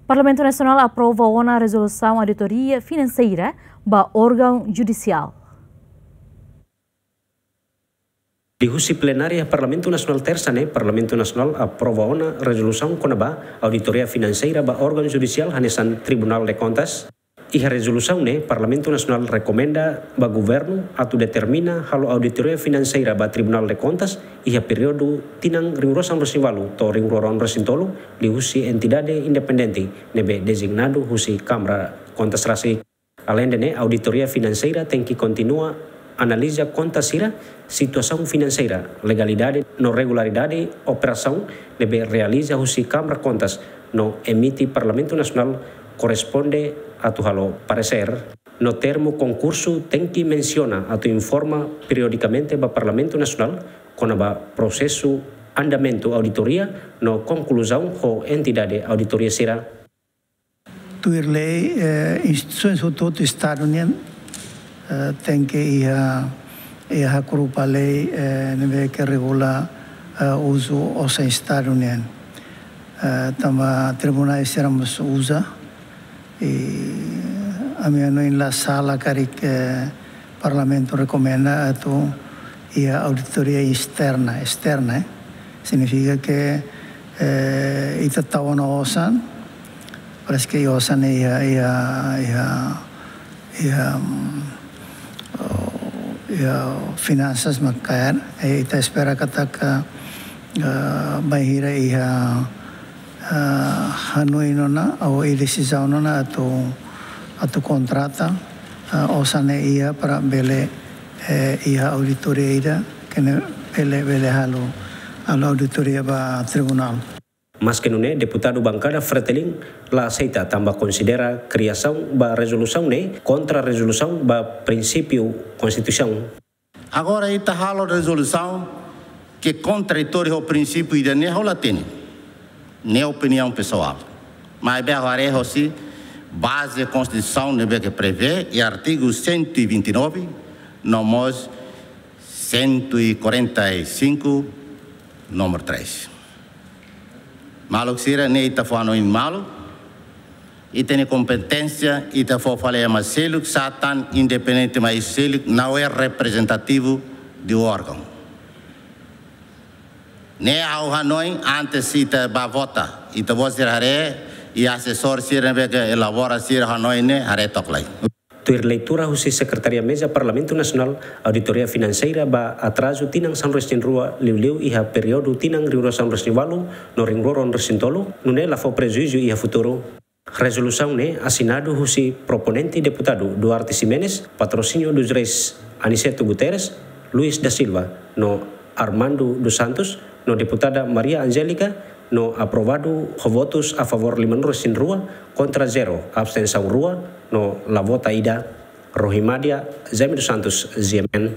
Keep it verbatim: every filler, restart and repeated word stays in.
Parlamentu Nasionál aprova ona rezolusaun auditoria finanseira ba órgaun judisiál. Liuhusi plenária Parlamentu Nasionál Tersa ne'e, Parlamentu Nasionál aprova ona rezolusaun kona-ba auditoria finanseira ba órgaun judisiál hanesan Tribunál de Kontas. Iha rezolusaun ne'e, Parlamentu Nasionál rekomenda ba governu atu determina halo auditoria finanseira ba Tribunál de Kontas iha períodu tinan rihun rua sanulu-resin-ualu to'o rihun rua ruanulu-resin-tolu, liuhusi entidade independente ne'ebé dezignadu husi Kámara Kontas rasik. Aleinde ne'e, auditoria finanseira tenke kontinua analiza konta sira, situasaun finanseira, legalidade no regularidade operasaun ne'ebé realiza husi Kámara Kontas no emite Parlamentu Nasionál korresponde atu halo paresér. No termu konkursu tenke mensiona atu informa periodikamente ba Parlamentu Nasionál kona-ba prosesu, andamentu auditoria no konkluzaun ho entidade auditoria sira. Tuir lei, eh, instituisoens hotu-hotu Estadu nian, eh, tenke iha, iha hakrupa lei, eh, ne'ebé ke regula, eh, uzu osan Estadu nian. Eh, tanba tribunál sira mós uza, i ami hanoin la sala karik, eh, Parlamentu rekomenda atu iha auditoria esterna, esterna, eh. Signifika ke, eh, ita tau ona osan, parese ke osan iha, iha, iha, iha, mm, oh, iha finansas mak kaer, eh, ita espera katak, eh, bainhira iha, eh, hanoin ona, ou iha desizaun ona atu, atu kontrata, eh, osan ne'e iha para bele, eh, iha auditoria ida, ke ne'e bele, bele halo, halo auditoria ba tribunál. Maske nune'e, deputadu bankada Fretilin la aseita tanba konsidera kriasaun ba rezolusaun ne'e kontra rezolusaun ba prinsípiu Konstituisaun. Agora ita halo rezolusaun ke kontraditóriu ho prinsípiu ida-ne'e, ha'u la hatene. Ne'e opiniaun pesoál. Maibé ha'u haree hosi baze Konstituisaun ne'ebé ke prevee iha artigu cento e vinte e nove, no mós cento e quarenta e cinco, número três. Maluk sira, ne'e ita fó hanoin malu, ita-nia kompeténsia, ita fó fali ema seluk, sá tan independente mai seluk, não é representativo do órgão. Ne'e ha'u hanoin antes ita bá vota, ita-boot sira haree, i asesór sira ne'ebé ke elabora sira hanoin ne'e haree took lai. Tuir leitura husi Sekretaria Meza Parlamentu Nasionál, auditoria finanseira ba atrazu tinan sanulu-resin-rua liuliu iha períodu tinan rihun rua sanulu-resin-ualu no rihun rua ruanulu-resin-tolu, nune'e la fó prejuízu iha futuru. Rezolusaun ne'e asinadu husi proponente deputadu Duarte Ximenes, patrosíniu dos reis Aniceto Guterres, Luis da Silva, no Armando dos Santos, no deputada Maria Angélica, no aprovadu ho votus a favór limanulu-resin-rua, kontra zero, abstensaun rua, no la vota ida. Rohimadia, Jaime dos Santos, G M N.